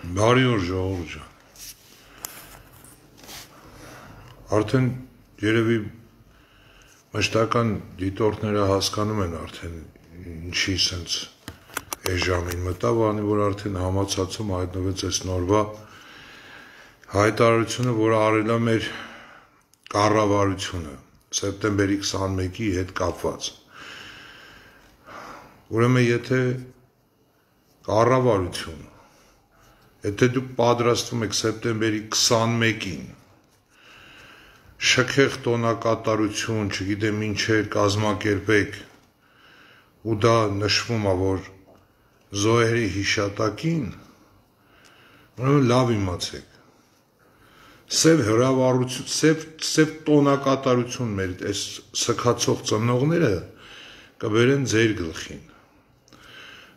Բարի օր ժողովուրդ ջան։ Արդեն երևի մշտական դիտորդները հասկանում են արդեն ինչի սենց այս ժամին մտավ, անի որ արդեն համացածում հայտնվեց այս նորվա հայտարարությունը, որը արել է մեր կառավարությունը սեպտեմբերի 21-ի հետ կապված։ Ուրեմն եթե կառավարությունը Եթե դուք պատրաստվում եք սեպտեմբերի 21-ին շքեղ տոնակատարություն, չգիտեմ ինչեր կազմակերպեք, ու դա նշվում է, որ զոհերի հիշատակին, ուրեմն լավ իմացեք, սև հրավառություն, սև տոնակատարություն մեր այս սքացող ծնողները կբերեն ձեր գլխին։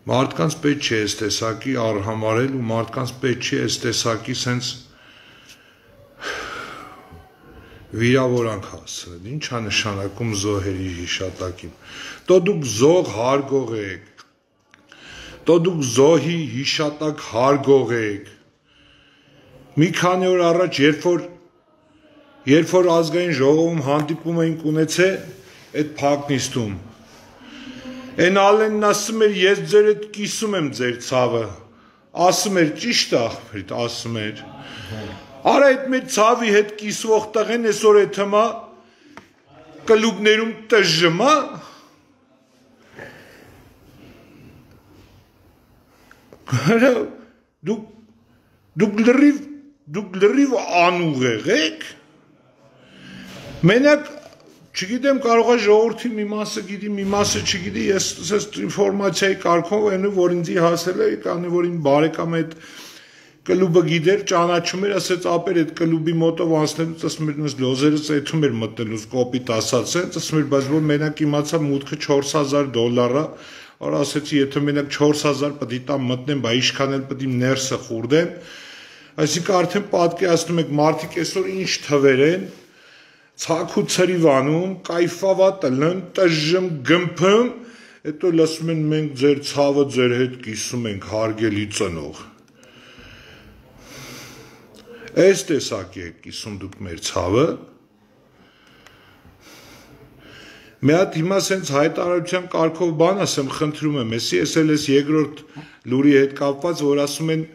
Մարդկանց պետք չի այս տեսակի արհամարել ու մարդկանց պետք չի այս տեսակի սենց վիրավորանք հասցնել։ Ինչ է նշանակում զոհերի հիշատակին։ Տո դուք զոհ հարգող եք։ Տո դուք զոհի հիշատակ հարգող եք։ Մի քանի օր առաջ, երբ որ ազգային ժողովում հանդիպում էինք ունեցել այդ փակնիստում, Են Ալենն ասում էր, ես ձեր հետ կիսում եմ ձեր ցավը, ասում էր, ճիշտ աղբերդ, ասում էր, արա այդ մեր ցավի հետ կիսվող տղեն այսօր է թմա կլուբներում տժմա, դուք լրիվ անուղեղ եք, մենակ Չգիտեմ, կարող է ժողովրդի մի մասը գիտի, մի մասը չգիտի, ես ինֆորմացիայի կարգով այն որ ինձի հասել է, կանի որ իմ բարեկամը այդ կլուբը գիտեր, ճանաչում էր, ասեց ապեր այդ կլուբի մոտով անցնելուց, ասում էր նույնիսկ լոզերը ծեթում էր մտնելուց կոպիտ ասած են, ասում էր, բայց որ մենակ իմացա մուտքը $4000 է, որ ասեցի, եթե մենակ 4000 պետք է տամ մտնեմ, բա ինչքան էլ պետք է ներսը խուրդեմ, այսինքն արդեն պատկերացնում եք մարդիկ այսօր ինչ թվեր են Ցակ ու ցրիվանում, կայֆավա տնն, տժժմ գմփում, հետո լսում են մենք ձեր ցավը ձեր հետ կիսում ենք հարգելի ծնող։ Այս տեսակի եք կիսում դուք մեր ցավը։ Մի հատ հիմա սենց հայտարարության կարգով բան ասեմ, խնդրում եմ, ես էլ ես երկրորդ լուրի հետ կապված, որ ասում են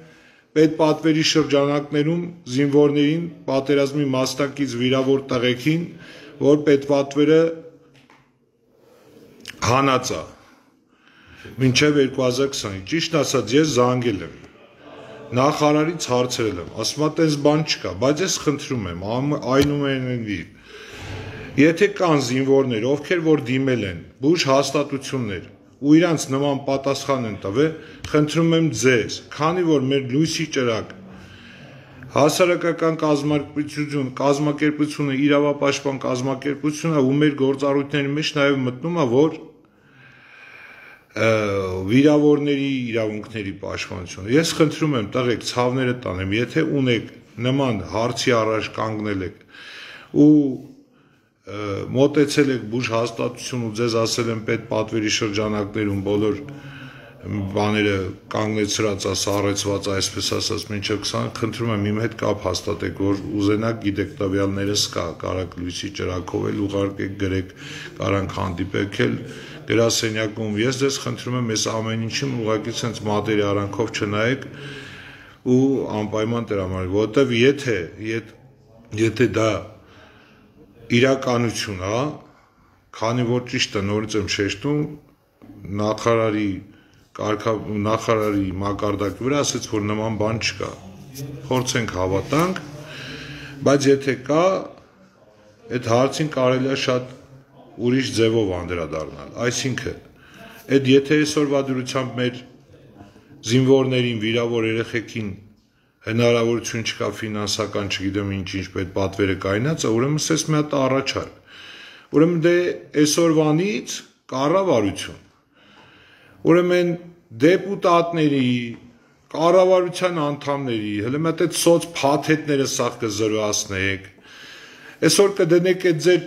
Պետպատվերի շրջանակներում զինվորներին պատերազմի մասնակից վիրավոր տղեկին, որ պետպատվերը հանած է, մինչև 2020, ճիշտ ասած ես զանգել եմ, նախարարից հարցրել եմ, ասում է տես բան չկա, բայց ես խնդրում եմ, այնուամենայնիվ, եթե կան զինվորներ, ովքեր որ դիմել են, բուժ հաստատություններ, ու իրանց նման պատասխան են տվել, խնդրում եմ ձեզ, քանի որ մեր լույսի ճրակ հասարակական կազմակերպությունը, իրավապաշտպան կազմակերպությունը ու մեր գործառույթների մեջ նաև մտնում է, որ վիրավորների իրավունքների պաշտպանությունը։ Ես խնդրում եմ տղեկ ցավները տանեմ, եթե ունեք նման հարցի առաջ կանգնել եք ու մոտեցել եք բուժ հաստատություն ու ձեզ ասել են պետպատվերի շրջանակներում բոլոր բաները կանգնեցրած է, սառեցված է, այսպես ասած, մինչև 20, խնդրում եմ իմ հետ կապ հաստատեք, որ ուզենաք գիտեք տվյալներս կա, կարաք լույսի ճրակով էլ ուղարկեք, գրեք, կարանք հանդիպեք էլ գրասենյակում, ես ձեզ խնդրում եմ այս ամեն ինչին ուղղակի սենց մատերի արանքով չնայեք ու անպայման տրամադրեք, որովհետև եթե դա իրականություն է, քանի որ ճիշտ է նորից եմ շեշտում, նախարարի մակարդակի վրա ասեց, որ նման բան չկա, փորձենք հավատանք, բայց եթե կա, այդ հարցին կարելի է շատ ուրիշ ձևով անդրադառնալ, այսինքն, այդ եթե այսօրվա դրությամբ մեր զինվորներին, վիրավոր երեխեքին հնարավորություն չկա ֆինանսական, չգիտեմ ինչ պետպատվերը կայնած, ուրեմն սես մի հատ առաջարկ, ուրեմն դե այսօրվանից կառավարություն, ուրեմն դեպուտատների, կառավարության անդամների, հələ մի հատ այդ սոց փաթեթները սաղ կզրոյացնեք, այսօր կդնեք այդ ձեր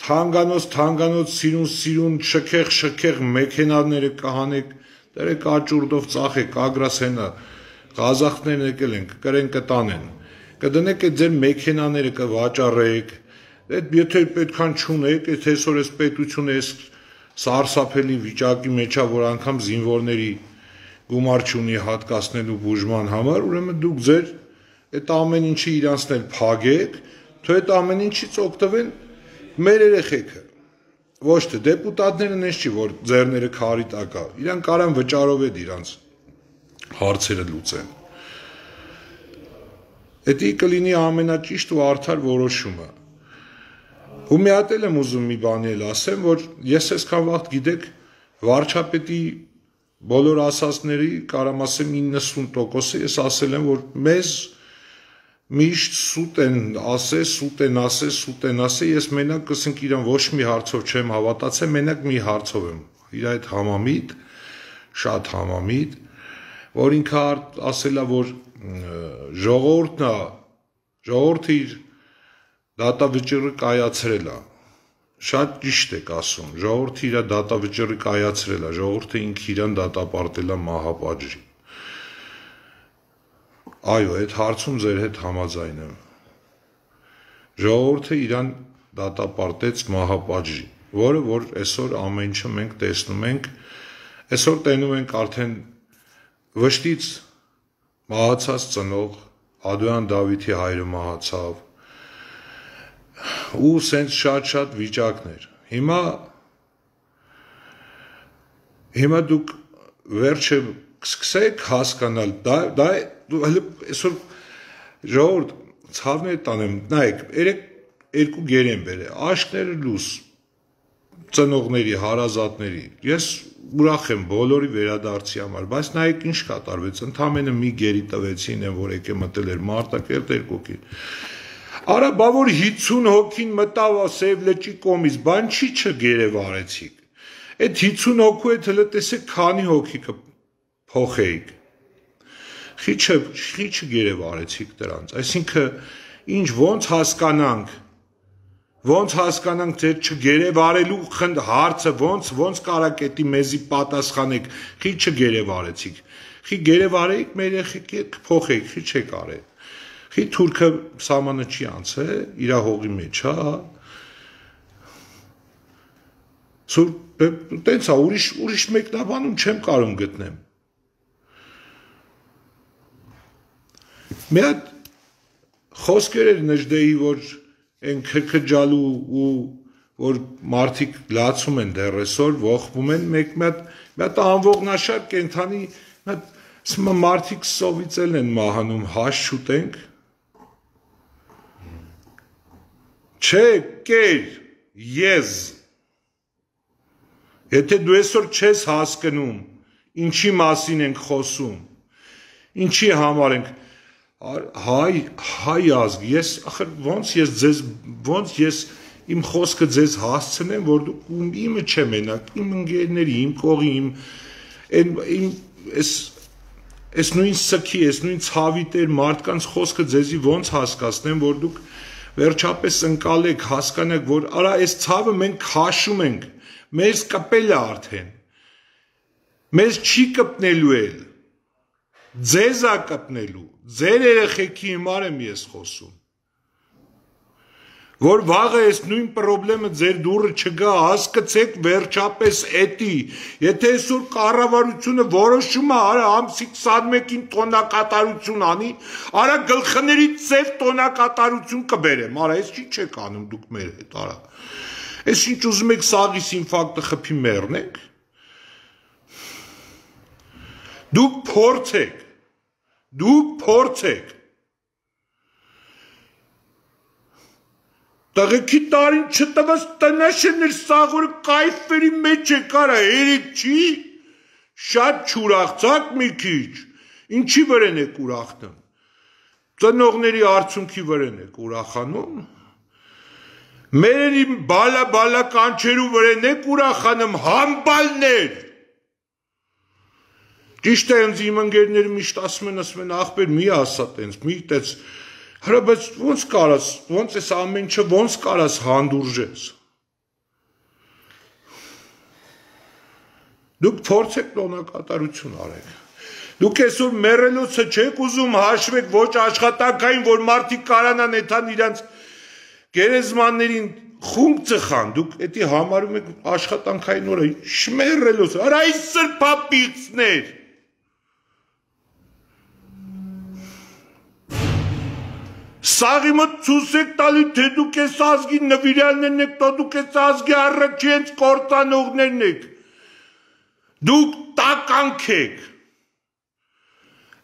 թանկանոց սիրուն, շքեղ մեքենաները կհանեք, դերեք աճուրդով ծախեք, ագրաս հենա, Ղազախներն եկել են, կկրեն կտանեն, կդնեք այդ ձեր մեքենաները կվաճառեք, եթե պետքան չունեք, եթե այսօր այս պետությունը այս սարսափելի վիճակի մեջ է, որ անգամ զինվորների գումար չունի հատկացնելու բուժման համար, ուրեմն դուք ձեր այդ ամեն ինչի իրանցն էլ փագեք, թե այդ ամեն ինչից օգտվեն մեր երեխեքը։ Ոչ թե դեպուտատները նես չի, որ ձեռները քարի տակ է, իրանք կարան վճարով էլ իրանց հարցերը լուծեն։ Դա կլինի ամենաճիշտ ու արդար որոշումը։ Ու մի հատ էլ եմ ուզում մի բանի էլ ասեմ, որ ես այսքան վաղ գիտեք վարչապետի բոլոր ասածների կարամ ասեմ 90%-ը ես ասել եմ, որ մեզ միշտ սուտ են ասել, ես մենակ կսենք իրան ոչ մի հարցով չեմ հավատացել, մենակ մի հարցով եմ, իր այդ համամիտ, շատ համամիտ, որ ինքը ասել է, որ ժողովուրդը իր դատավճիռը կայացրել է, շատ ճիշտ եք ասում, ժողովուրդը իր դատավճիռը կայացրել է, ժողովուրդը ինքը իրան դատապարտել է մահապատժի։ Այո, այդ հարցում ձեր հետ համաձայն եմ։ Ժողովուրդը իրան դատապարտեց մահապատժի, որը որ այսօր ամեն ինչը մենք տեսնում ենք, այսօր տենում ենք արդեն վշտից մահացած ծնող Ադոյան Դավիթի հայրը մահացավ, ու սենց շատ վիճակներ։ Հիմա դուք վերջը սկսեք հասկանալ, դա այսօր ժողովուրդ ցավներ տանեմ, նայեք, երկու գերեն բերե, աշկները լուս ծնողների, հարազատների, ես ուրախ եմ բոլորի վերադարձի համար, բայց նայեք ինչ կատարվեց, ընդամենը մի գերի տվեցին են, որ եկե մտել էր Մարտակերտ երկուքի։ Արա, բա որ 50 հոգին մտավ Սև լճի կողմից, բան չի չգերև արեցիք։ Այդ 50 հոգու հետ հլը տեսեք քանի հոգի կփոխեիք։ Խի չգերև արեցիք դրանց, այսինքն ինչ ոնց հասկանանք ձեր չգերև արելու հարցը, ոնց կարակետի մեզի պատասխանեք, խի չգերև արեցիք, խի գերև արեիք մեր երեխեքի հետ կփոխեիք, խի չեք արել, խի թուրքը սամանը չի անցել, իրա հողի մեջ, տենց է, ուրիշ մեկնաբանում չեմ կարում գտնեմ։ Մի հատ խոսքեր էր Նժդեի, որ են քրքջալու ու որ մարդիկ լացում են դեռ այսօր, ողբում են, մի հատ անողնաշար կենդանի, մարդիկ սովից են մահանում, հաշ շուտենք, չէ, կեր, ես, եթե դու այսօր չես հասկնում, ինչի մասին ենք խոսում, ինչի համար ենք, հայ ազգ, ոնց ես իմ խոսքը ձեզ հասցնեմ, որ դուք իմը չեմ մենակ, իմ ընկերների, իմ կողի, այս նույն սքի, այս նույն ցավի տեր մարդկանց խոսքը ձեզի ոնց հասկացնեմ, որ դուք վերջապես ընկալեք, հասկանաք, որ արա այս ցավը մենք քաշում ենք, մեզ կպել է արդեն, մեզ չի կպնելու էլ, ձեզ է կպնելու, ձեր երեխեքի հիմար եմ ես խոսում, որ վաղը այս նույն պրոբլեմը ձեր դուրը չգա, հասկացեք վերջապես էտի, եթե այսօր կառավարությունը որոշում է, արա ամսի 21-ին տոնակատարություն անի, արա գլխների ծև տոնակատարություն կբերեմ, արա այս չի չեք անում դուք մեր հետ, արա, այս ինչ ուզում եք սաղիս ինֆակտը խփի մեռնեք, դուք փորձեք, տղեկի տարին չտվաց տնաշերներ սաղորը կայֆերի մեջ է կարա, երեկ չի, շատ չուրախցակ մի քիչ, ինչի վրեն եք ուրախնում, ծնողների արցունքի վրեն եք ուրախանում, մերերի բալա կանչերու վրեն եք ուրախանում, համբալներ, ճիշտ է ընձ իմ ընկերները միշտ ասում են ախպեր մի ասա տենց, մի տենց, հրա բայց ոնց ես ամեն ինչը ոնց կարաս հանդուրժես, դուք փորձեք տոնակատարություն արեք, Դուք այսօր մեռելոցը չեք ուզում հաշվեք ոչ աշխատանքային, որ մարդիկ կարանան էթան իրանց գերեզմաններին խունկ ծխան, դուք էդի համարում եք աշխատանքային օրը, շմերելոց, արա այս սրպապիղծներ, սաղի մտ ծուս եք տալի, թե դուք ես ազգի նվիրալներն եք, դուք ես ազգի առաջի հենց կործանողներն եք, դուք տականք եք,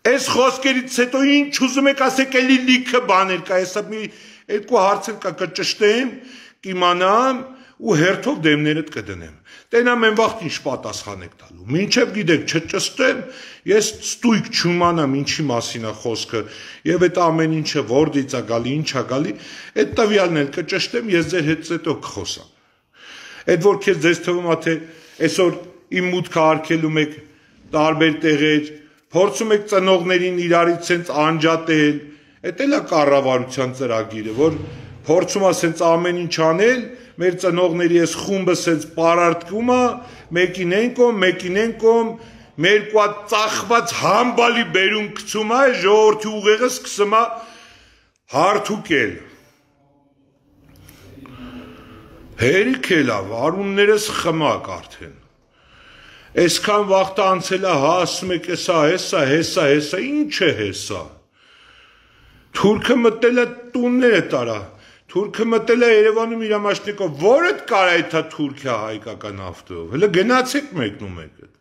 այս խոսքերից հետո ինչ ուզում եք ասեք էլի լիքը բաներ կա, եսա մի երկու հարցեր կա կճշտեմ, կիմանամ ու հերթով դեմներդ կդնեմ, տենամ են վաղտ ինչ պատասխան եք տալու, մինչև գիտեք չճստեմ, ես ստույգ չումանամ ինչի մասին է խոսքը և այդ ամեն ինչը որդից է գալի, ինչ է գալի, այդ տվյալն էլ կճշտեմ, ես ձեր հետ հետո կխոսամ, այդ որ քեզ ձեզ թվում է թե այսօր իմ մուտքը արգելում եք տարբեր տեղեր, փորձում եք ծնողներին իրարից սենց անջատել, էդ էլ է կառավարության ծրագիրը, որ փորձում է սենց ամեն ինչ անել, մեր ծնողների այս խումբը սենց պարարտկում է, մեկին են կոմ, մեր կուա ծախված համբալի բերում կցում է, ժողովրդի ուղեղը սկսում է հարթուկել։ Հերիք էլ է, արուններս խմակ արդեն։ Այսքան վաղտ անցել է, ասում եք հեսա, ինչ է հեսա։ Թուրքը մտել է տունները տարա, թուրքը մտել է Երևանում իր ամաշնիկով, որդ կարա էթա Թուրքիա հայկական ավտով, հլը գնացեք մեկնում եք էդ,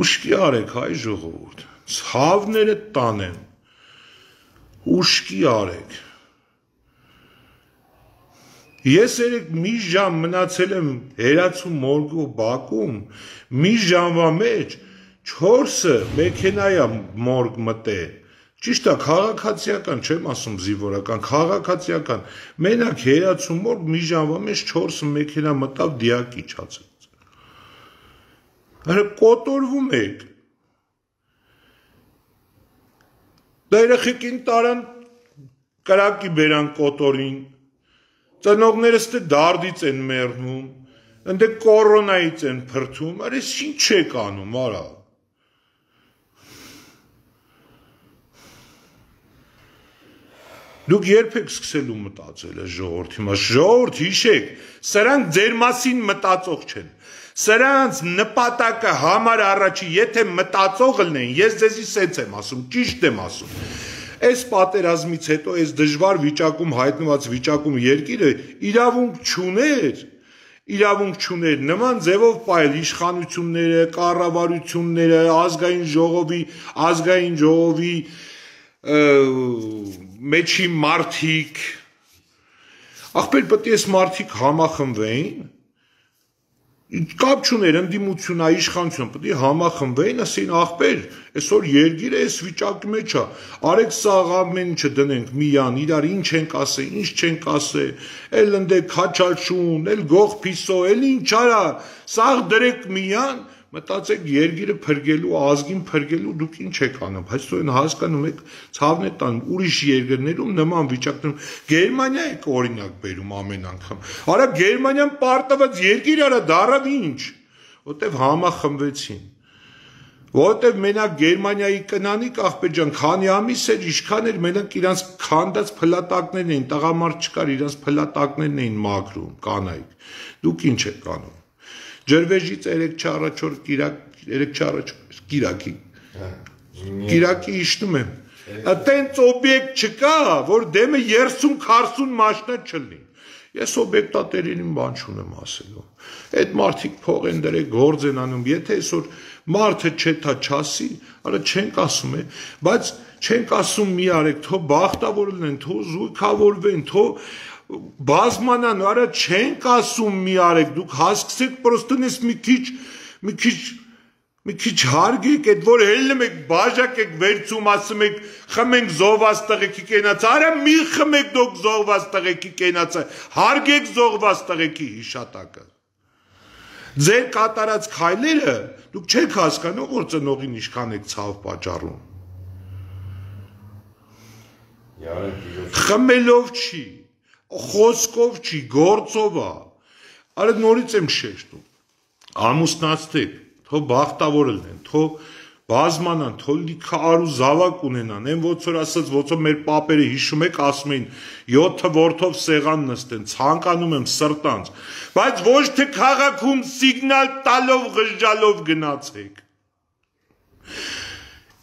ուշկի արեք հայ ժողովուրդ, ցավները տանեն, ուշկի արեք, ես երեք մի ժամ մնացել եմ հերացու մորգու բակում, մի ժամվա մեջ 4-ը մեքենայա մորգ մտել, ճիշտ է, քաղաքացիական, չեմ ասում զինվորական, քաղաքացիական, մենակ հերացու մորգ մի ժամվա մեջ 4 մեքենա մտավ դիակ իջացեց։ Հələ կոտորվում եք։ Դա երեխեքին տարան կրակի բերան կոտորին, ծնողներս դե դարդից են մեռնում, ընդ կորոնայից են փրթում, արես ինչ եք անում, արա։ Դուք երբ եք սկսելու մտածել այս ժողովրդի մաս, ժողովուրդ հիշեք, սրանք ձեր մասին մտածող չեն, սրանց նպատակը համար առաջի, եթե մտածող լինեն, ես ձեզի սենց եմ ասում, ճիշտ եմ ասում, այս պատերազմից հետո, այս դժվար վիճակում, հայտնված վիճակում երկիրը իրավունք չուներ, նման ձևով պայել իշխանությունները, կառավարությունները, ազգային ժողովի մեջի մարդիկ, ախպեր պետք է այս մարդիկ համախմբվեին, կապ չուներ ընդդիմությունը, իշխանությունը, պետք է համախմբվեին, ասեին ախպեր, այսօր երկիրը այս վիճակի մեջ է, արեք սաղ ամեն ինչը դնենք միան, իրար ինչ ենք ասե, ինչ չենք ասե, էլ ընդեք քաչալշուն, էլ գող փիսո, էլ ինչ արա, սաղ դրեք միան, մտածեք երկիրը փրկելու, ազգին փրկելու դուք ինչ եք անում, բայց դու այն հասկանում եք, ցավն է տան, ուրիշ երկրներում նման վիճակներում, Գերմանիա եք օրինակ բերում ամեն անգամ, արա Գերմանիան պարտված երկիր արա դարավ ինչ, որտեվ համախմբվեցին, որտեվ մենակ Գերմանիայի կնանիկ ախպեր ջան, քանի ամիս էր, ինչքան էր մենակ իրանց քանդած փլատակներն էին, տղամարդ չկար, իրանց փլատակներն էին մաքրում, կանայք, դուք ինչ եք անում Ջրվեժից 3 չառաջոր կիրակի իշնում եմ, տենց օբյեկտ չկա, որ դեմը 30-40 մաշնա չլնի, ես օբյեկտատերին բան չունեմ ասելու, այդ մարդիկ փող են դրեք, գործ են անում, եթե այսօր մարդը չէ թա չասի, արա չենք ասում է, բայց չենք ասում մի արեք, թո բախտավոր լինեն, թո զույգավորվեն, թո բազմանան, արա չենք ասում մի արեք, դուք հասկսեք պրոստոնես մի քիչ հարգեք, այդ որ հելնում եք, բաժակ եք վերցում, ասում եք, խմենք զոհված տղեկի կենացը, արա մի խմեք դուք զոհված տղեկի կենացը, հարգեք զոհված տղեկի հիշատակը։ Ձեր կատարած քայլերը, դուք չեք հասկանում, որ ծնողին ինչքան եք ցավ պատճառում։ Խմելով չի, խոսքով չի, գործով է, արա նորից եմ շեշտում, ամուսնացրեք, թո բախտավոր լինեն, թո բազմանան, թող լիքը արու զավակ ունենան, այն ոնց որ ասած, ոնց որ մեր պապերը հիշում եք, ասում էին 7 որդով սեղան նստեն, ցանկանում եմ սրտանց, բայց ոչ թե քաղաքում սիգնալ տալով ղժջալով գնացեք։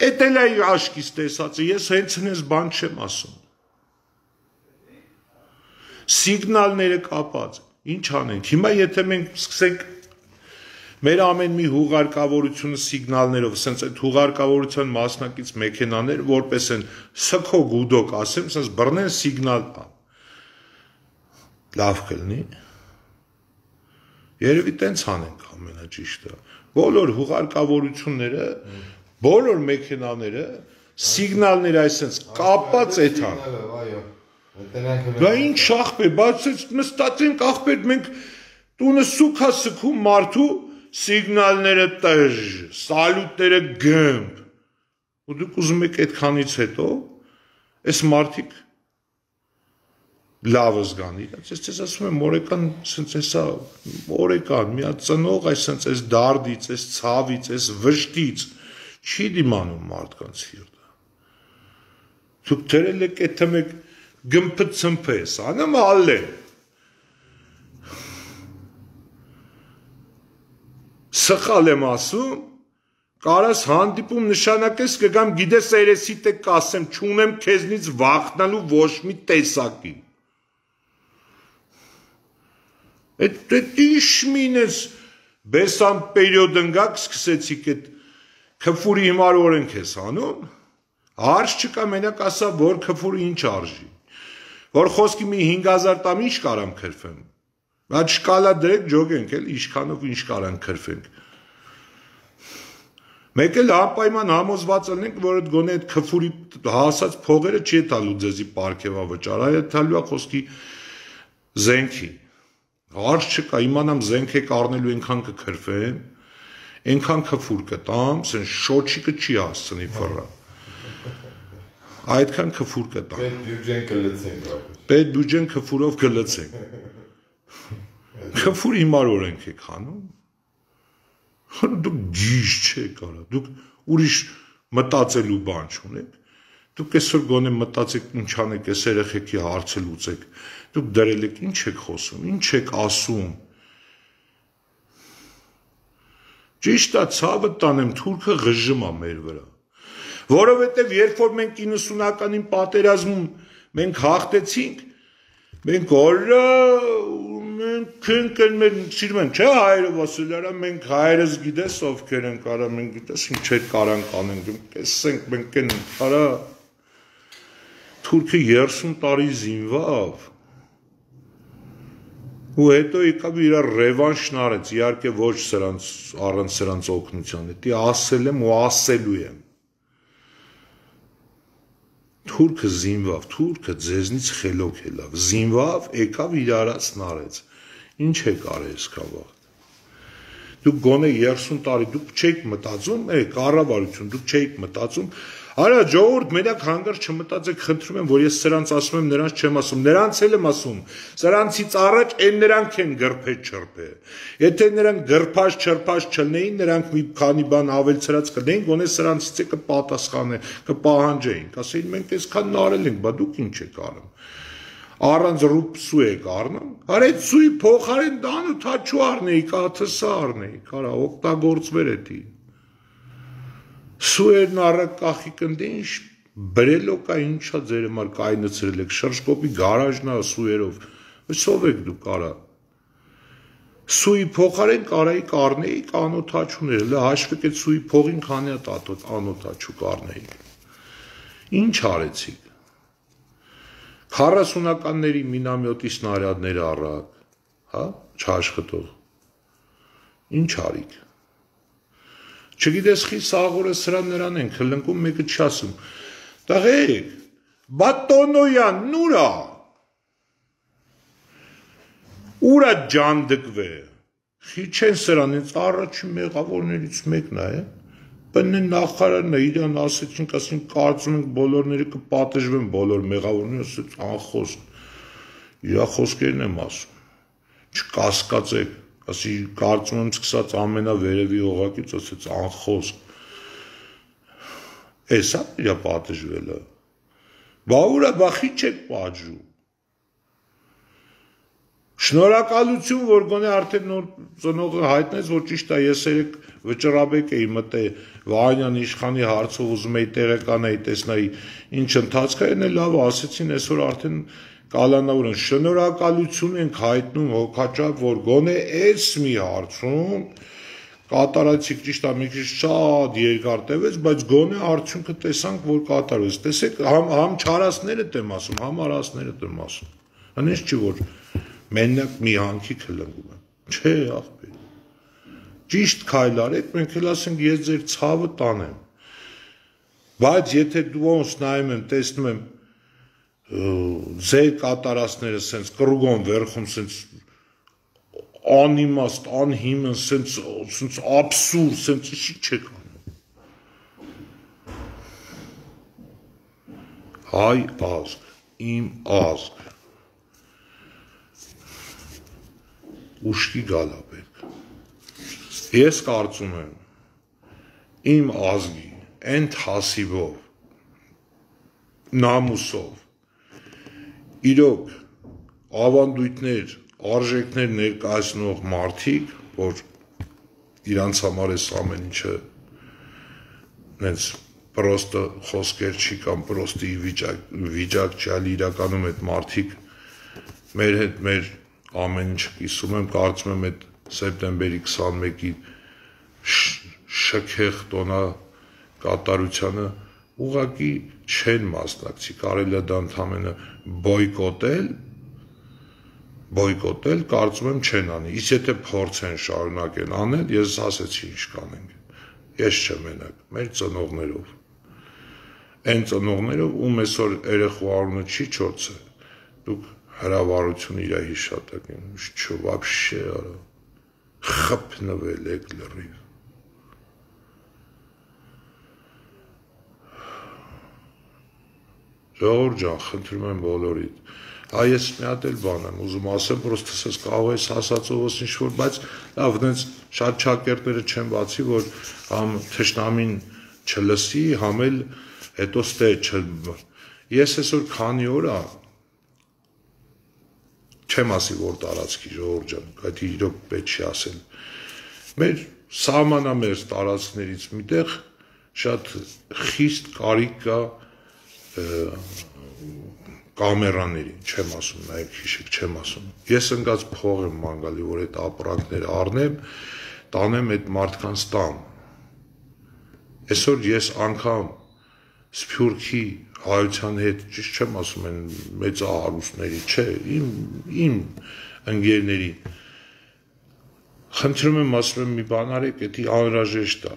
Էդ էլ է աշկից տեսածը, ես հենց հենց բան չեմ ասում։ Սիգնալները կապած, ինչ անենք, հիմա եթե մենք սկսենք մեր ամեն մի հուղարկավորությունը սիգնալներով, սենց այդ հուղարկավորության մասնակից մեքենաներ, որպես են սքո գուդոկ ասեմ, սենց բռնեն սիգնալ տան։ Լավ կլինի։ Երևի տենց անենք ամենաճիշտը։ Բոլոր հուղարկավորությունները, բոլոր մեքենաները, սիգնալները այսենց կապած էթան։ Դա ինչ ախպեր, բայց նստած ենք ախպեր, մենք տունը սուքա սքում մարդու սիգնալները տժ, սալուտները գմբ, ու դուք ուզում եք այդքանից հետո, այս մարդիկ լավը զգան իրաց, ես ձեզ ասում եմ օրեկան, սենց էսա, օրեկան, մի հատ ծնող այս այս դարդից, այս ցավից, այս վշտից, չի դիմանում մարդկանց սիրտը, դուք դրել եք եթե մեկ գմպը ծմպը ես, անեմ ալեն, սխալ եմ ասում, կարաս հանդիպում նշանակես կգամ գիտես երեսիտ է կասեմ, չունեմ քեզնից վախնալու ոչ մի տեսակի։ Այդ իշմին ես բեսան պերիոդ ընգակ սկսեցիք այդ քֆուրի հիմար օրենք ես անում, հարց չկա մենակ ասա, որ քֆուրը ինչ արժի, որ խոսքի մի 5000 տամ ինչ կարամ քրվեմ, բայց շկալա դրեք ջոգենք էլ, իշքանով ինչ կարան քրվենք։ Մեկ էլ անպայման համոզված ելնենք, որ այդ գոնե այդ քֆուրի հասած փողերը չի տալու ձեզի պարգևավճար, այլ տալու է խոսքի զենքի։ Հարց չկա, իմանամ զենք եք առնելու այնքան կքրվեմ, այնքան քֆուր կտամ, սեն շոչիկը չի հասցնի ֆռա։ Այդքան քֆուր կտամ։ Պետ բյուջեն կլցենք։ Պետ բյուջեն քֆուրով կլցենք։ Քֆուր հիմար օրենք եք հանում։ Դուք գիժ չեք արա, դուք ուրիշ մտածելու բան չունեք, դուք այսօր գոնե մտածեք ինչ անեք, այս երեխեքի հարցը լուծեք, դուք դրել եք ինչ եք խոսում, ինչ եք ասում։ Ճիշտ է, ցավը տանեմ, թուրքը ղժում է մեր վրա, որովհետև երբ որ մենք 90-ականին պատերազմում մենք հաղթեցինք, մենք օրը մենք մեր սիրում են, չէ հայերը ասելարա, մենք հայերս գիտես ովքեր ենք արա, մենք գիտես ինչ էր կարան կանենք, տեսենք մենք են արա, թուրքը 30 տարի զինվավ, ու հետո եկավ իր ռևանշն արեց, իհարկե ոչ առանց սրանց օգնության, դի ասել եմ ու ասելու եմ, թուրքը զինվավ, թուրքը ձեզնից խելոք ելավ, զինվավ, եկավ իր արածն արեց, ինչ եք արել սկավաղ, դուք գոնե 30 տարի, դուք չեք մտածում, կառավարություն, դուք չեք մտածում, արա ժողովուրդ մենակ հանգար չմտածեք, խնդրում եմ, որ ես սրանց ասում եմ, նրանց չեմ ասում, նրանց էլ եմ ասում, սրանցից առաջ են նրանք են գրփետ չրփե, եթե նրանք գրփած չրփած չլնեին, նրանք մի քանի բան ավելցրած կլնեին, գոնե սրանցից է կպատասխանեն, կպահանջեին, կասեին մենք այսքան արել ենք, բա դուք ինչ եք արում, առանց ռուպսու եք առնում, արեդ սուի փոխարեն դանու թաչու առնեիք, աթսա առնեիք, արա օգտագործվեր էդի, սուերն առակ կախիկ ընդ ինչ բրելոկա ինչա ձեր համար կայնցրել եք, շրջկոպի գարաժնա սուերով, սով եք դուք արա, սուի փոխարեն կարայիք առնեիք անոթաչուներ, լը հաշվեք էդ սուի փողին քանի հատ անոթաչու կառնեիք, ինչ արեցիք, 40-ականների մինամյոտի սնարյադները առակ, հա, չաշխտող, ինչ արիք, չգիտես խի սաղորը սրան նրան են կլնկում մեկը չասում, տղեկ, բատոնոյան, նուրա, ուրա ջան դկվե, խի չեն սրան, ինձ առաջի մեղավորներից մեկն է, բնն նախարարն է, իրան ասեցինք, ասին կարծում ենք բոլորները կպատժվեն, բոլոր մեղավորները ասեց անխոս, իրա խոսքերն եմ ասում, չկասկածեք, ասի կարծում եմ սկսած ամենավերևի օղակից ասեց անխոս, Էսա իրա պատժվելը։ Բա ուրա բախի չեք պատժում։ Շնորհակալություն, որ գոնե արդեն նոր ծնողը հայտնեց, որ ճիշտ է, ես երեք վճռաբեկ էի մտե Վահանյան իշխանի հարցով ուզում էի տեղեկանայի, տեսնայի ինչ ընթացք է, այնը լավ ասեցին, այսօր արդեն կալանավոր են, շնորհակալություն ենք հայտնում հոգաչափ, որ գոնե այս մի հարցում կատարեցիք, ճիշտ է, մի քիչ շատ երկար տևեց, բայց գոնե արդյունքը տեսանք, որ կատարվեց։ Տեսեք, համ չարասներդ եմ ասում, համ արասներդ եմ ասում։ Հենց չի որ մենակ մի հանքի քլնգում եմ։ Չէ, ախպեր։ Ճիշտ քայլ արեք, մենք էլ ասենք ես ձեր ցավը տանեմ։ Բայց եթե դու ոնց նայում եմ, տեսնում եմ ձեր կատարածները սենց կրուգոն վերխում սենց անիմաստ, անհիմն, սենց աբսուրդ, սենց ինչի չեք անում։ Հայ ազգ, իմ ազգ, ուշքի գալա պետք։ Ես կարծում եմ, իմ ազգի, են թասիվով, նամուսով, իրոք ավանդույթներ, արժեքներ ներկայացնող մարդիկ, որ իրանց համար էս ամեն ինչը նենց պրոստը խոսքեր չի կամ պրոստի վիճակ չի, այլ իրականում այդ մարդիկ մեր հետ մեր ամեն ինչ կիսում եմ, կարծում եմ այդ սեպտեմբերի 21-ի շքեղ տոնա կատարությանը ուղղակի չեն մասնակցի, կարելի է դա ընդհանրապես բոյկոտել, կարծում եմ չեն անի, իսկ եթե փորձեն շարունակեն անել, ես ասեցի ինչ կանենք, ես չեմ մենակ, մեր ծնողներով, այն ծնողներով, ում այսօր երեխու արունը չի չորցը, դուք հրավառություն իրա հիշատակ եմ, չո վաբշե արա, խպնվել եք լրիվ, ժողովուրդ ջան, խնդրում եմ բոլորիդ, այս մի հատ էլ բան եմ ուզում ասեմ, պրոստը սես կարող ես ասածովս ինչ-որ, բայց լավ, դենց շատ շակերտները չեն բացի, որ համ թշնամին չլսի, համ էլ հետո ստե ես այսօր քանի օր ա, չեմ ասի, որ տարածքի ժողովուրդ ջան, այդ իրոք պետք չի ասել, մեր սահմանամերձ տարածքներից միտեղ շատ խիստ կարիք կա կամերաների, չեմ ասում, նայեք հիշեք, չեմ ասում, ես ընկած փող եմ մանգալի, որ այդ ապրանքները առնեմ, տանեմ այդ մարդկանց տան, այսօր ես անգամ Սփյուռքի հայության հետ, ճիշտ չեմ ասում են մեծահարուստների, չէ, իմ ընկերների, խնդրում եմ ասում եմ մի բան արեք, դա անհրաժեշտ է,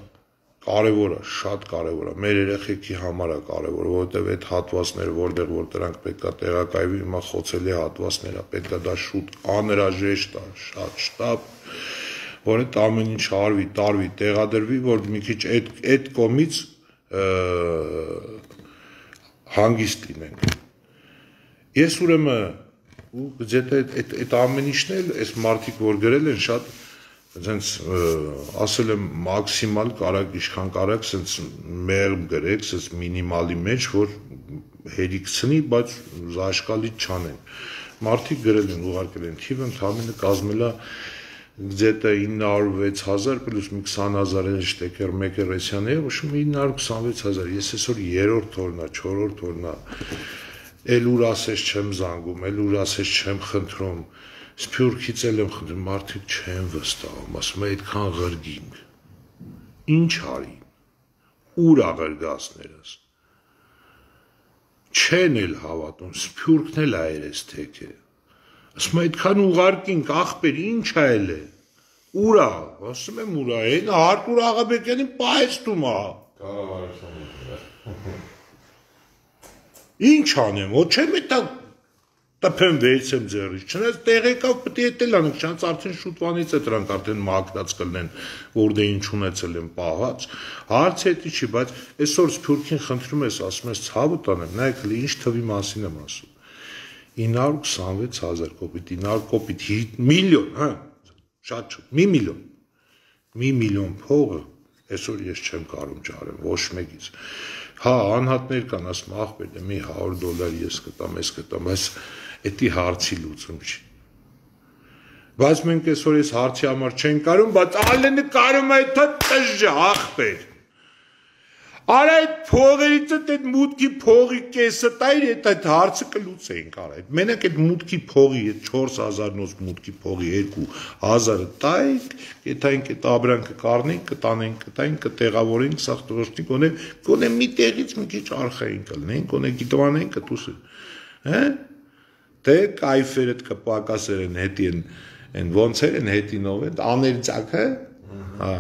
կարևոր է, շատ կարևոր է, մեր երեխեքի համար է կարևոր, որովհետև այդ հատվածները, որտեղ որ դրանք պետք է տեղակայվի, հիմա խոցելի հատվածներ է, պետք է դա շուտ անհրաժեշտ է, շատ շտապ, որ այդ ամեն ինչ արվի, տարվի, տեղադրվի, որ մի քիչ այդ կողմից հանգիստ լինենք։ Ես ուրեմն այդ ամեն ինչն էլ, այս մարդիկ որ գրել են շատ Ձենց ասել եմ մաքսիմալ կարակ, ինչքան կարակ, սենց մեղմ գրեք, սենց մինիմալի մեջ, որ հերիքցնի, բայց զաշկալի չանեն։ Մարդիկ գրել են, ուղարկել են թիվը, ընդհանրապես կազմելա где-то 906,000 պլյուս մի 20,000 շտեկեր Մեկերեսյանի, ոչ մի 926,000, ես այսօր երրորդ օրն է, չորրորդ օրն է, էլ ուր ասես չեմ զանգում, էլ ուր ասես չեմ խնդրում, Սփյուռքից էլ եմ խնդրում, մարդիկ չեն վստահում, ասում է այդքան ղրգինք, ինչ արի, ուր աղրգասներս, չեն էլ հավատում, Սփյուռքն էլ այրես թեք է, ասում է այդքան ուղարկինք, ախպեր, ինչ այլ է, ուր ա, ասում եմ ուր ա, այն Արտուր Աղաբեկյանին պահեստում ա, ինչ անեմ, ոչ չեմ էտա տպեմ վեցեմ ձերից, չնայած տեղեկավ պետք է էտել անենք, չնայած արդեն շուտվանից է դրանք արդեն մագնած կլնեն, որ դե ինչ ունեցել են պահած, հարցը էտի չի, բայց այսօր Սփյուռքին խնդրում ես, ասում ես ցավը տանեմ, նայեք ինչ թվի մասին եմ ասում, 926,000 կոպիտ, 900 կոպիտ, միլիոն, հա, շատ շուտ, մի միլիոն փողը, այսօր ես չեմ կարում ճարեմ, ոչ մեկից, Հա, անհատներ կան, ասում ախպեր, մի $100 ես կտամ, ես կտամ, այս էդի հարցի լուծում չի։ Բայց մենք այսօր այս հարցի համար չենք կարում, բայց ալենը կարում է դա տժժ ախպեր։ Արա այդ փողերից այդ մուտքի փողի կեսը տայր այդ հարցը կլուծեինք արա։ Մենակ այդ մուտքի փողի այդ 4000-նոց մուտքի փողի 2000-ը տայք, կետայինք այդ աբրանքը կառնենք, կտանենք, կտայինք, կտեղավորենք, սաղ տղոշնի գոնե մի տեղից մի քիչ արխային կլնենք, գոնե գիտվանենք կտուսը։ Հա? Դե կայֆերդ կպակասեր են հետի են ոնց են հետինով են, աներցակը, հա։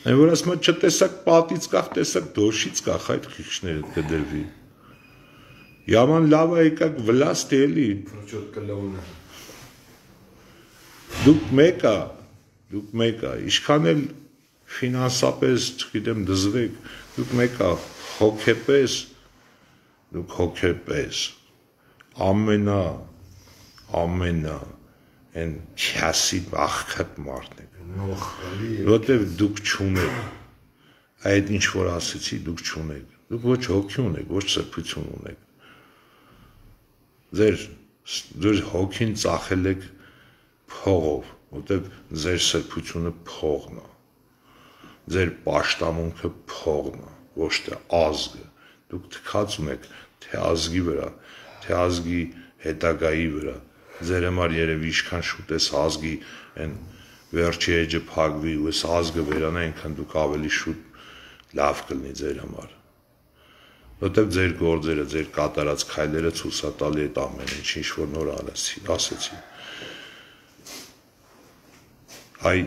Այն որ ասում է չտեսակ պատից կախ, տեսակ դոշից կախ այդ քիչները կդրվի։ Yaman լավ է եկակ վլաստ էլի։ Դուք մեկա, իշքան էլ ֆինանսապես, չգիտեմ, դզվեք, դուք մեկա հոգեպես, ամենա, են քյասի աղքատ մարդն եք, որտև դուք չունեք, այդ ինչ որ ասեցի դուք չունեք, դուք ոչ հոգի ունեք, ոչ սրբություն ունեք, ձեր հոգին ծախել եք փողով, որտև ձեր սրբությունը փողն է, ձեր պաշտամունքը փողն է, ոչ թե ազգը, դուք թքած ունեք թե ազգի վրա, թե ազգի հետագայի վրա, ձեր համար երևի ինչքան շուտ ես ազգի են վերջի էջը փակվի ու ես ազգը վերանա այնքան դուք ավելի շուտ լավ կլինի ձեր համար որտեղ ձեր գործերը ձեր կատարած քայլերը ցույցատալի այդ ամեն ինչ որ նոր ասեցի այ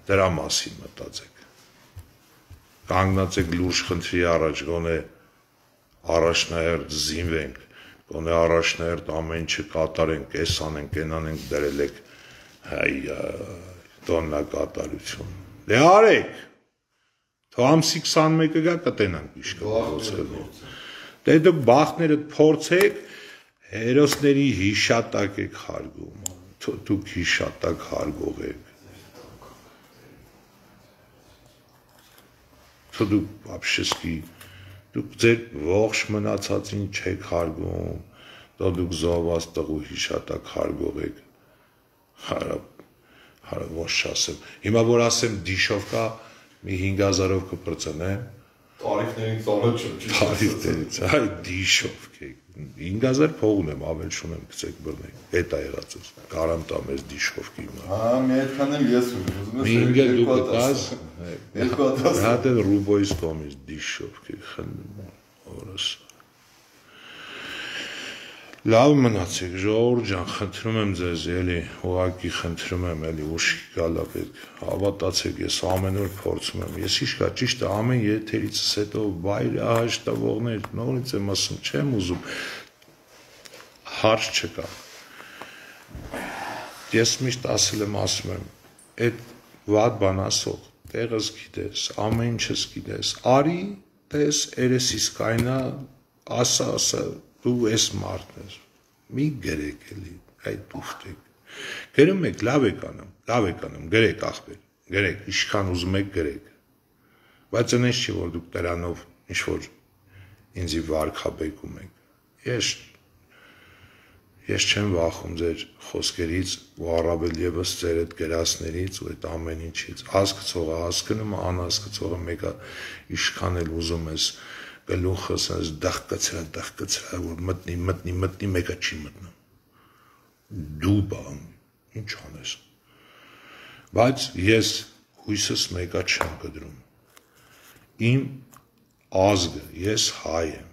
դրա մասին մտածեք կանգնած եք լուրջ խնդրի առաջ գոնե առաջնահերթ զինվենք Գոնե առաջնահերթ ամեն ինչը կատարենք, էս անենք, են անենք, դրել եք տոննակատարություն։ Դե արեք, թո ամսի 21-ը գա կտենանք իշկը գործելու։ Դե դուք բախներըդ փորձեք, հերոսների հիշատակ եք հարգում, դուք հիշատակ հարգող եք։ Թո դուք ապշեսկի Դուք ձեր ողջ մնացածին չեք հարգում, դա դուք զոհված տղու հիշատակ հարգող եք, հարավ ոչ չասեմ, հիմա որ ասեմ դիշով կա, մի 5000-ով կպրծնեմ, Տարիքներից, այ դիշով կեք, 5000 փող ունեմ, ավել շունեմ կծեք բրնեք, էտ է եղացուս, կարամ տամ ես դիշով կիմա։ մի այդքան էլ ես ուզում ես։ Մի ինգել դու կտաս, հատ են ռուբոյից կոմից դիշով կեք, խնդում, օրս։ Լավ մնացեք, ժողովուրդ ջան, խնդրում եմ ձեզ, էլի, ուղղակի խնդրում եմ, էլի, ուշքի գալա պետք, հավատացեք, ես ամեն օր փորձում եմ, ես իշկա ճիշտ է, ամեն եթերիցս հետո վայր հաշտավորներ, նորից եմ ասում, չեմ ուզում, հարց չկա, ես միշտ ասել եմ, ասում եմ, այդ վատ բան ասող, տեղս գիտես, ամեն ինչս գիտես, արի, տես, երեսիս կայնա, ասա, դու ես մարդն ես, մի գրեք էլի, այդ դուխտեք, գրում եք, լավ եք անում, գրեք ախպեր, գրեք, իշքան ուզում եք գրեք, բայց ընես չի, որ դուք դրանով ինչ-որ ինձի վարկաբեկում եք, ես չեմ վախում ձեր խոսքերից ու առավել ևս ձեր այդ գրասներից ու այդ ամեն ինչից, հասկացողը հասկնում, անհասկացողը մեկը իշքան էլ ուզում ես գլուխս այս դախկացրա, որ մտնի, մեկը չի մտնում, դու բան, ինչ անես, բայց ես հույսս մեկը չեմ կդրում, իմ ազգը, ես հայ եմ,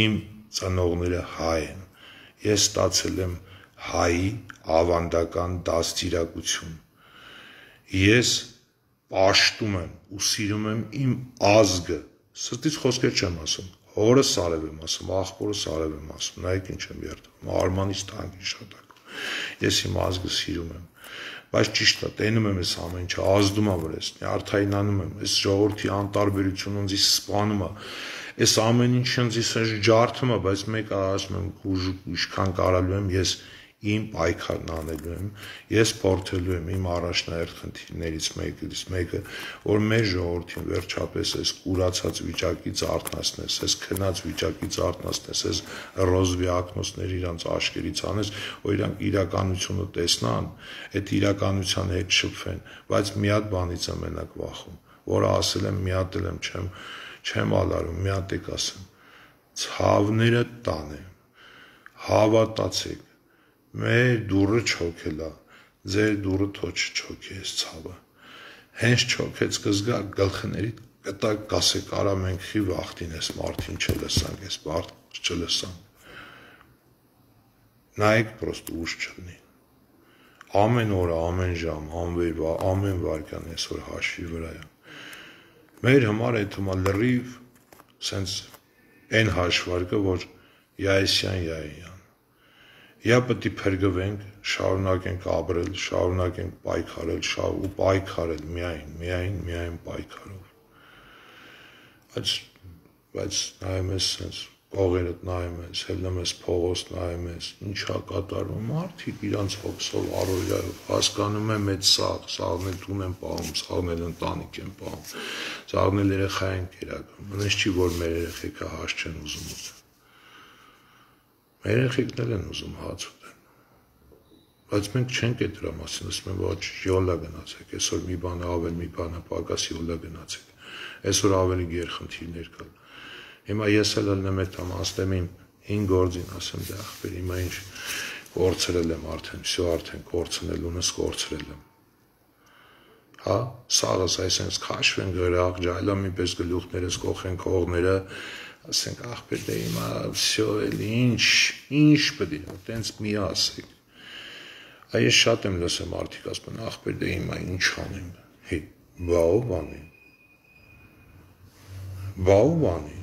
իմ ծնողները հայ են, ես ստացել եմ հայի ավանդական դաստիարակություն, ես պաշտում եմ ու սիրում եմ իմ ազգը, Սրտից խոսքեր չեմ ասում, հորս արև եմ ասում, աղբորս արև եմ ասում, նայեք ինչ եմ երդում, արմանից տանք հիշատակում, ես իմ ազգը սիրում եմ, բայց ճիշտ է, տենում եմ ես ամեն ինչը, ազդում է որ ես, նյարդայնանում եմ, ես ժողովրդի անտարբերությունը ինձ սպանում է, ես ամեն ինչ ինձ ջարդում է, բայց մեկ ասում եմ, ինչքան կարալու եմ, ես իմ պայքարն անելու եմ, ես փորձելու եմ իմ առաջնահերթ խնդիրներից մեկը, որ մեր ժողովրդին վերջապես այս կուրացած վիճակից արթնացնես, այս քնած վիճակից արթնացնես, այս ռոզվի ակնոցների իրանց աշկերից անես, որ իրանք իրականությունը տեսնան, այդ իրականության հետ շփվեն, բայց մի հատ բանից եմ մենակ վախում, որը ասել եմ, մի հատ եմ չեմ ալարում, մի հատ եք ասեմ, ցավները տան եմ, հավատացեք, մեր դուրը չոքել է, ձեր դուրը թո չչոքի այս ցավը, հենց չոքեց կզգա գլխների կտակ կասեք արա մենք խի վախտին ես մարդին չլսանք, ես մարդ չլսանք, նայեք պրոստ ուշ չլնի, ամեն օրը, ամեն ժամ, ամեն վարկյան այսօր հաշվի վրա է, մեր համար այդ հմա լրիվ սենց են հաշվարկը, որ յայսյան, या պետք է փրկվենք, շարունակենք ապրել, շարունակենք պայքարել, ու պայքարել միայն պայքարով։ Բայց նայում ես sense կողերդ նայում ես, հելնում ես փողոց նայում ես, ինչա կատարվում, մարդիկ իրանց հոգսով առօրյայով հասկանում եմ այդ սաղն էլ տուն են պահում, սաղն էլ ընտանիք են պահում, սաղն էլ երեխա են կերակրում, մնաց չի որ մեր երեխեքը հաց չեն ուզում ուտել։ Մեր երեխեքն էլ են ուզում հաց ուտեն, բայց մենք չենք այդ դրա մասին, ասում եմ, ոչ յոլա գնացեք, այսօր մի բանը ավել, մի բանը պակաս յոլա գնացեք, այսօր ավելի գերխնդիրներ կան։ Հիմա ես էլ ելնեմ այդ համաստեմ իմ 5 գործին, ասեմ դե ախպեր, հիմա ինչ կորցրել եմ արդեն կորցնելունս կորցրել եմ։ Հա, սաղս այսենց քաշվեն գրաղ, ջայլամի պես գլուխներս կողեն կողները, ասենք ախպեր դե հիմա վсё էլի ինչ պետք է տենց մի ասեք։ Այս շատ եմ լսեմ մարդիկ ասում են ախպեր դե հիմա ինչ անեմ։ Հե, բաով անի։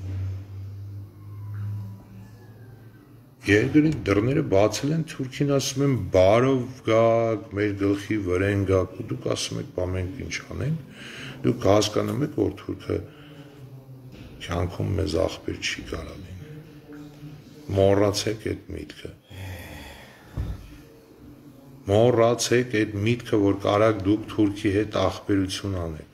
Երկրի դռները բացել են Թուրքին ասում են բարով գաք, մեր գլխի վրեն գաք ու դուք ասում եք բա մենք ինչ անենք, դուք հասկանում եք որ Թուրքը կյանքում մեզ ախպեր չի կարա լինել։ Մոռացեք այդ միտքը, որ կարաք դուք Թուրքի հետ ախպերություն անեք։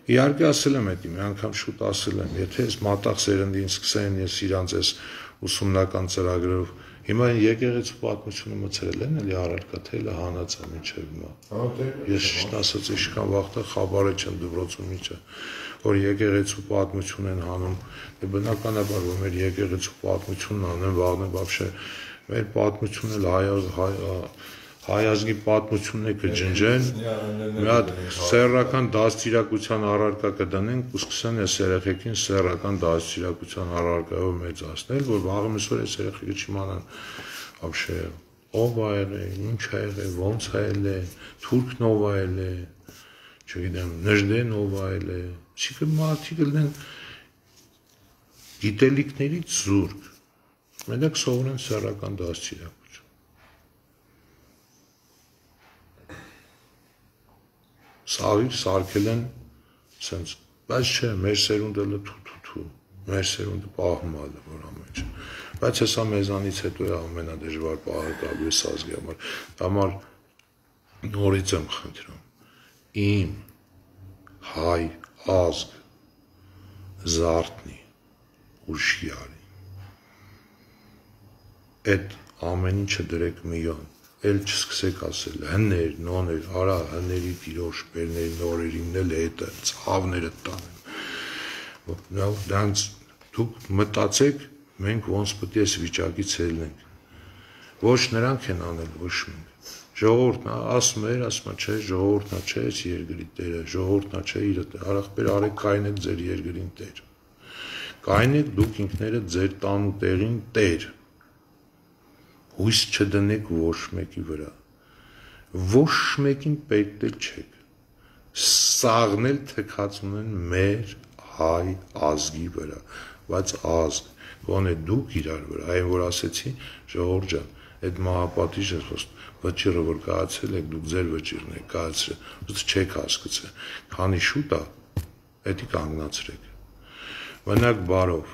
Իհարկե ասել եմ այդ մի անգամ շուտ ասել եմ, եթե ես մատաղ սերնդին սկսեն, ես իրանց ես ուսումնական ծրագրով, հիմա եկեղեցու պատմությունը մցրել են, էլի առարկա, թե էլի հանածա մինչև հիմա։ Ես ճիշտ ասած իշքան վաղտը խաբարը չեմ դպրոցում միջը, որ եկեղեցու պատմություն են հանում, դե բնականաբար որ մեր եկեղեցու պատմությունն անեն, վաղն բաբշե, մեր պատմությունն էլ հայազգի պատմությունն է կջնջեն, մի հատ սեռական դաստիարակության առարկա կդնենք ու սկսեն այս երեխեքին սեռական դաստիարակության առարկայով մեծացնել, որ վաղը միսօր այս երեխեքը չիմանան вообще ով ա եղել, ինչ ա եղել, ոնց ա եղել, թուրքն ով ա եղել, չգիտեմ, նժդեն ով ա եղել, չիկը մարդիկ լինեն գիտելիքներից զուրկ, մենակ սովորեն սեռական դաստիարակություն։ Սաղիր սարկել են սենց, բայց չէ, մեր սերունդը լթու, մեր սերունդը պահմալ է, որ ամեն չէ, բայց հեսա մեզանից հետո է ամենադժվար պահը կալու է սազգի համար նորից եմ խնդրում, իմ հայ ազգ զարդնի ուշի արի, այդ ամեն ինչը դրեք միոն, էլ չսկսեք ասել, հներ, նոներ, արա, հների տիրոշ, բերների, նորերին էլ հետը, ծավները տանեմ, դրանց դուք մտացեք, մենք ոնց պետք է այս վիճակից ելնենք, ոչ նրանք են անել, ոչ մենք, ժողովուրդն ասում է, չէ, ժողովուրդն չէ, այս երկրի տերը, ժողովուրդն չէ, իր արախպեր արեք կայնեք ձեր երկրին տեր, կայնեք դուք ինքներդ ձեր տան ու տեղին տեր, հույս չդնեք ոչ մեկի վրա, ոչ մեկին պետք էլ չեք, սաղն էլ թքածուն են մեր հայ ազգի վրա, բայց ազգ, գոնե դուք իրար վրա, այն որ ասեցի, ժողովուրդ ջան, այդ մահապատիժը վճիռը որ կայացել եք, դուք ձեր վճիռն եք կայացրել, ուստ չեք հասկացել, քանի շուտ է, էդի կանգնացրեք, մնաք բարով,